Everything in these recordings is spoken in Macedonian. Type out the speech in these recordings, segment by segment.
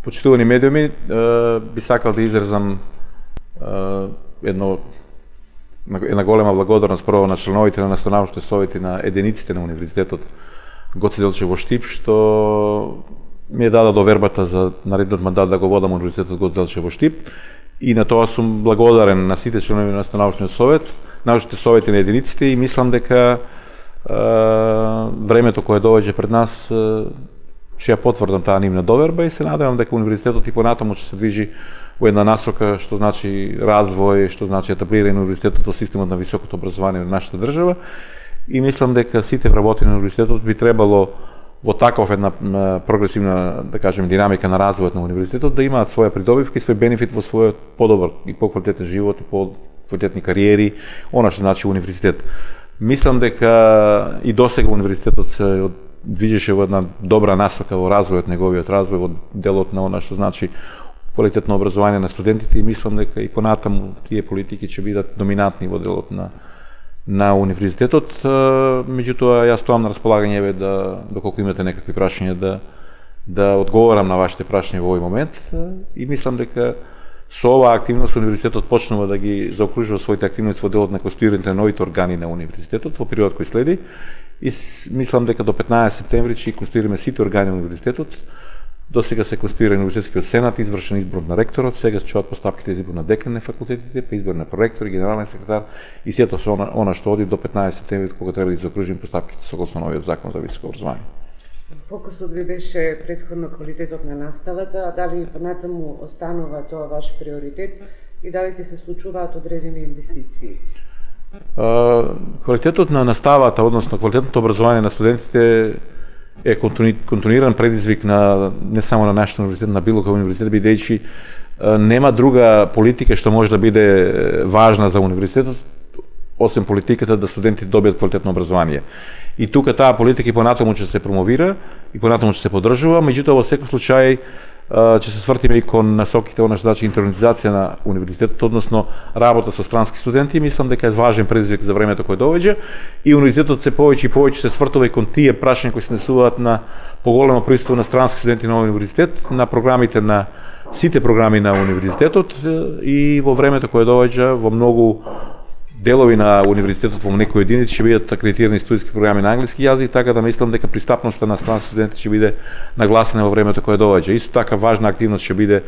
Почитувани медиуми, би сакал да изразам една голема благодарност прво на членовите на наставнавачните совети на единиците на Универзитетот Гоце Делчев во Штип, што ми е дада довербата за наредниот мандат да го водам Универзитетот Гоце Делчев во Штип, и на тоа сум благодарен на сите членови на наставнавачниот совет, научните совети на единиците, и мислам дека времето кое доаѓа пред нас ќе ја потврдам таа нивна доверба, и се надевам дека универзитетот и понатаму ќе се движи во една насока, што значи развој, што значи етаблирање на универзитетот во системот на високото образование на нашата држава, и мислам дека сите вработени на универзитетот би требало во таков една прогресивна, да кажем, динамика на развојот на универзитетот да имаат своја придобивка и свој бенефит во својот подобар и поквалитетен живот и поквалитетни кариери, она што значи универзитет. Мислам дека и досега универзитетот се движеше во една добра насока во развојот, неговиот развој, во делот на она што значи квалитетно образование на студентите, и мислам дека и понатаму тие политики ќе бидат доминантни во делот на универзитетот. Меѓутоа, јас стоам на располагање доколку имате некакви прашања да одговорам на вашите прашања во овој момент, и мислам дека со оваа активност универзитетот почнува да ги заокружува своите активности во делот на конституирање на новите органи на универзитетот во период кој следи, и мислам дека до 15 септември ќе конституираме сите органи на универзитетот. До сега се конституира универзитетскиот сенат, извршен избор на ректорот, сега ќе чуат постапките за избор на декан на факултетите, па избор на проректор, генерален секретар, и сето со она што оди до 15 септември, кога треба да заокружиме постапките согласно новиот закон за високо образование. Фокусот ви беше претходно квалитетот на наставата, а дали понатаму останува тоа ваш приоритет и дали се случуваат одредени инвестиции? Квалитетот на наставата, односно квалитетното образование на студентите е континуиран предизвик на не само на нашиот универзитет, на било кој универзитет, бидејќи нема друга политика што може да биде важна за универзитетот освен политиката да студентите добијат квалитетно образование. И тука таа политика и понатаму ќе се промовира и понатаму ќе се поддржува, меѓутоа во секој случај ќе се свртиме и кон насоките, она што значи интернализација на универзитетот, односно работа со странски студенти, и мислам дека е важен предизвик за времето кое доаѓа, и универзитетот се повеќе и повеќе се свртува и кон тие прашања кои се однесуваат на поголемо присуство на странски студенти на универзитет, на програмите на сите програми на универзитетот, и во времето кое доаѓа во многу делови на универзитетот во некои единици ќе бидат акредитирани студиски програми на англиски јазик, така да мислам дека пристапноста на странски студенти ќе биде нагласена во времето кое доаѓа. Исто така важна активност ќе биде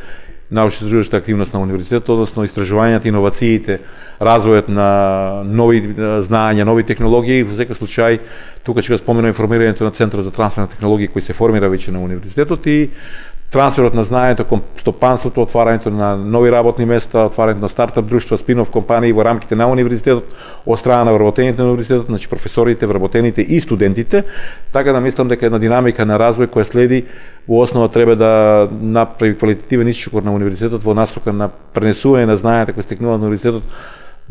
научно-истражувачка активност на универзитетот, односно истражувањата, иновациите, развојот на нови знаења, нови технологии. Во секој случај тука ќе го споменам информирањето на Центарот за трансфер на технологии кој се формира веќе на универзитетот, и трансферот на знаењето кон стопанството, отварањето на нови работни места, отварањето на стартап друштва, спин-оф компании во рамките на универзитетот, од страна на вработените на универзитетот, значи професорите, вработените и студентите, така да мислам дека една динамика на развој која следи во основа треба да направи квалитативен исчекор на универзитетот во насока на пренесување на знаењата кои стекнуваат на универзитетот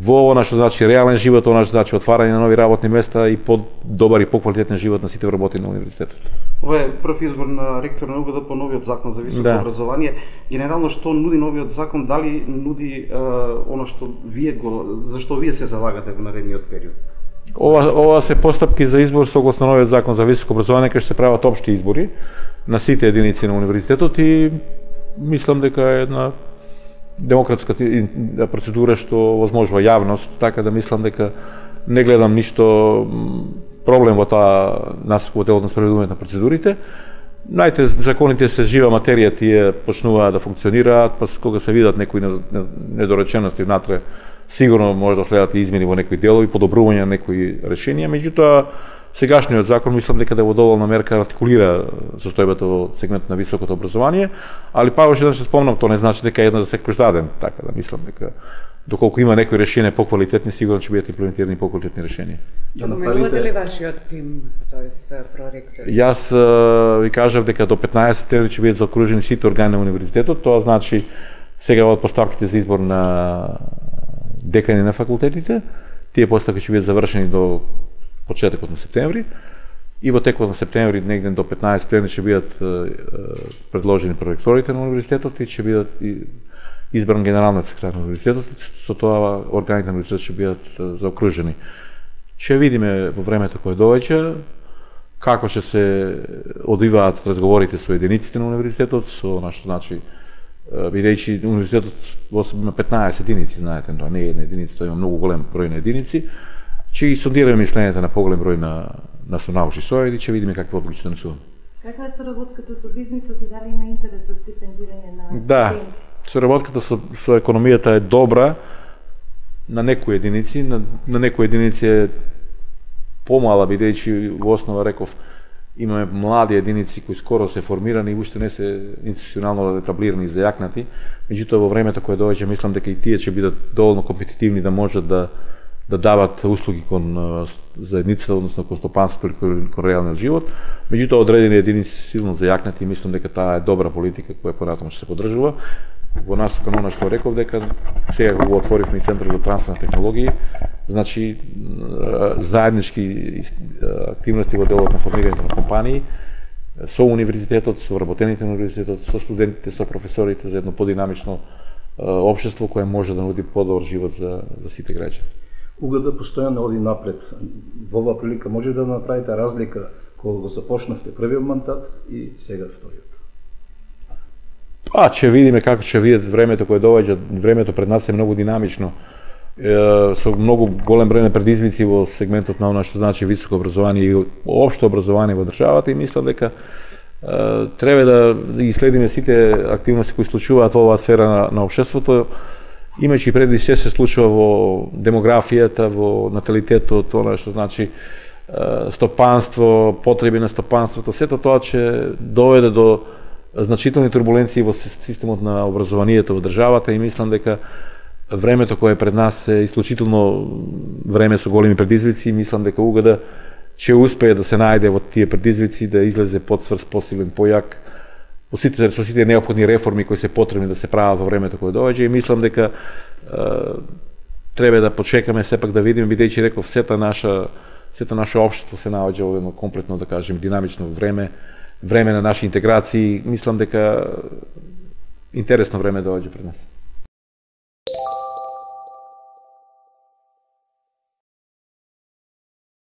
во она што значи реален живот, она што значи отварање на нови работни места и подобар и поквалитетен живот на сите вработени на универзитетот. Ова е прв избор на ректор на УГД по новиот закон за високо образование. Генерално што нуди новиот закон, дали нуди она што зашто вие се залагате во наредниот период? Ова се постапки за избор согласно новиот закон за високо образование, кај што се прават општи избори на сите единици на универзитетот, и мислам дека е една демократска процедура што возможува јавност, така да мислам дека не гледам ништо проблем во таа насока во делот на спроведување на процедурите. Знаете, законите се жива материја, тие почнуваат да функционираат, па кога се видат некои недоречености внатре, сигурно може да следат и измени во некои делови, подобрување на некои решенија, меѓутоа сегашниот закон мислам дека да во доволна мерка артикулира состојбата во сегментот на високото образование, али па уште еднаш спомнам, тоа не значи дека една за секој даден, така да мислам дека доколку има некои решенија поквалитетни, сигурно ќе бидат имплементирани поквалитетни решенија. Поменувате ли вашиот тим, тоест проректори? Јас ви кажав дека до 15 септември ќе бидат заокружени сите органи на универзитетот, тоа значи сега од постапките за избор на декани на факултетите, тие постапки ќе бидат завршени до почетокот на септември, и во текот на септември негде до 15 септември ќе бидат предложени проректорите на универзитетот и ќе бидат избран генералниот секретар на универзитетот, со тоа органите на универзитетот ќе бидат заокружени. Ќе видиме во времето кое доаѓа, како ќе се одвиваат разговорите со единиците на универзитетот, со нашто значи бидејќи универзитетот во себе има 15 единици, знаете, тоа не е една единица, тоа има многу голем број на единици. Ќе ги сондираме мисленето на поголем број на научни совети, ќе видиме какви одлуки ќе донесуваме. Каква е соработката со бизнисот и дали има интерес за стипендирање на студенти? Да, соработката со економијата е добра на некои единици, на некои единици е помала, бидејќи во основа реков имаме млади единици кои скоро се формирани и уште не се институционално етаблирани и зајакнати, меѓутоа во времето кое доаѓа мислам дека и тие ќе бидат доволно компетитивни да можат да дават услуги кон заедницата, односно кон стопанството или кон реалниот живот. Меѓутоа одредени единици се силно зајакнати и мислам дека таа е добра политика која понатаму ќе се поддржува. Во насока на она што реков дека сега го отворивме и Центар за трансфер на технологии, значи заеднички активности во делот на формирањето на компании со универзитетот, со вработените на универзитетот, со студентите, со професорите за едно подинамично општество кое може да нуди подобар живот за сите граѓани. УГД постојано оди напред. Во оваа прилика може да направите разлика кога го започнавте првиот мандат и сега вториот? Ќе видиме како ќе видат времето кое доаѓа. Времето пред нас е многу динамично, со многу голем број на предизвици во сегментот на она што значи високо образование и општо образование во државата и мислам дека треба да ги следиме сите активности кои случуваат во оваа сфера на општеството, имајќи предвид што се случува во демографијата, во наталитетот, она што значи стопанство, потреби на стопанството, сето тоа ќе доведе до значителни турбуленции во системот на образованието во државата и мислам дека времето кое е пред нас е исклучително време со големи предизвици и мислам дека УГД ќе успее да се најде во тие предизвици, да излезе подсврс, посилен, појак, со сите неопходни реформи кои се потребни да се прават во времето кое доаѓа и мислам дека треба да почекаме сепак да видиме, бидејќи реков сето наше општество се наоѓа во едно комплетно, да кажем, динамично време на наши интеграции, мислам дека интересно време доаѓа пред нас.